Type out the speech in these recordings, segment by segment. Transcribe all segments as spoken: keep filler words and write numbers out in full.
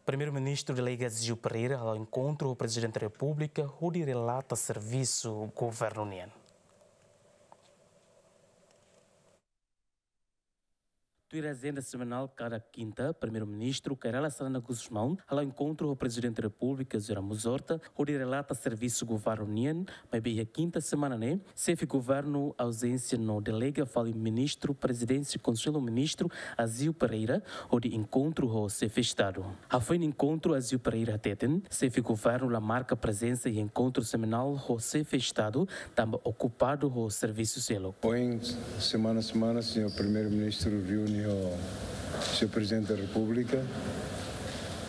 Primeiru-Ministru delega Zéu Pereira hala'o enkontru ho Prezidente Repúblika hodi relata servisu governu nian. Tuir ajenda semanál kada kinta, Primeiru-Ministru Kay Rala Xanana Gusmão hala'o enkontru ho Prezidente Repúblika José Ramos Horta hodi relata servisu governu nian, maibé iha kinta semana ne'e, xefe governu auzénsia no delega fali Ministru Prezidénsia Konsellu Ministru Zéu Pereira hodi enkontru ho xefe Estadu. Hafoin enkontru Zéu Pereira hateten, xefe governu la marka prezensa iha enkontru semanál ho xefe Estadu, tanba okupadu ho servisu seluk. Ohin, semana-semana, señór Primeiru-Ministru reúne ho señór Prezidente da Repúblika,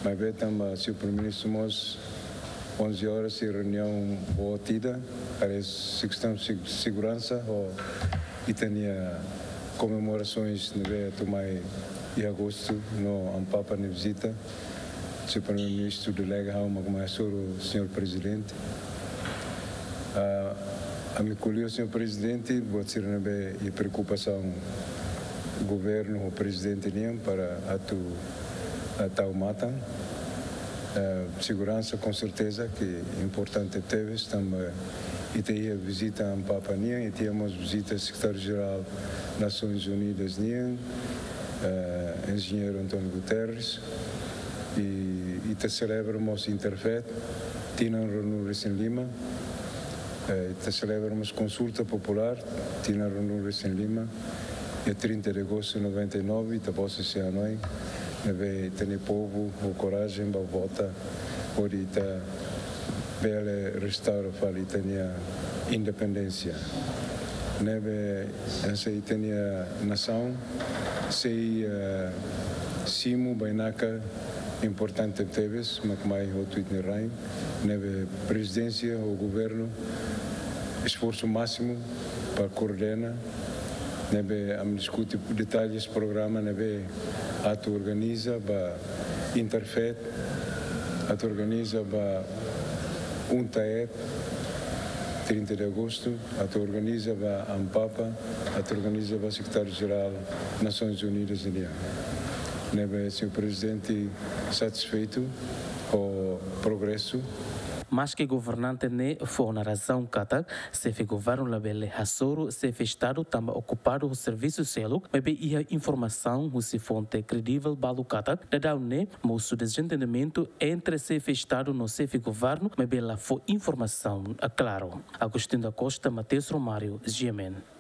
maibé tanba señór Primeiru-Ministru mós onze horas iha reuniaun boot ida, área kestaun seg-, seguransa, ho ita-nia komemorasoens ne'ebé atu mai iha agostu, no Amu Papa nia vizita. Señór Primeiru-Ministru delega ha'u mak mai hasoru señór Prezidente. Ah, ami ko'alia ho señór Prezidente, buat sira ne'ebé iha preokupasaun governu ho Prezidente nian para atu, ah, tau matan. Ah, seguransa, com certeza, ke importante tebes, tanba ita iha vizita Amu Papa nian, ita iha mós vizita Sekretáriu-Jerál Nasoins Unidas nian, eh, Enjeñeiru António Guterres, i ita selebra mós Interfet, tinan ruanulu-resin-lima, eh, ita selebra mós konsulta populár, tinan ruanulu-resin-lima, iha trinta de agosto noventa e nove, ita bose se anoi, ne'ebé ita-nia povu ho korajen ba vota, hodi ita bele restaura fali ita-nia independénsia. Ne'ebé, eh, se ita-nia nasaun sei, eh, simu bainaka importante tebes, mak mai hotu ita-nia rain, ne'ebé Prezidénsia ho Governu esforsu másimu para koordena, ne'ebé ami diskute detalles programa ne'ebé atu organiza ba Interfet, atu organiza ba UNTAED, trinta de agosto, atu organiza ba Amu Papa, atu organiza ba Sekretáriu-Jerál Nasoins Unidas nian. Ne'ebé señór Prezidente satisfeitu ho progresu. Maske governante ne'e fó ona razaun katak xefe governu labele hasoru xefe Estadu tanba okupadu ho servisu seluk, maibé iha informasaun husi fonte kredivel balu katak dadaun ne'e mosu dezentendimentu entre xefe Estadu no xefe governu, maibé la fó informasaun klaru. Agostinho da Costa, Mateus Romário, G M N.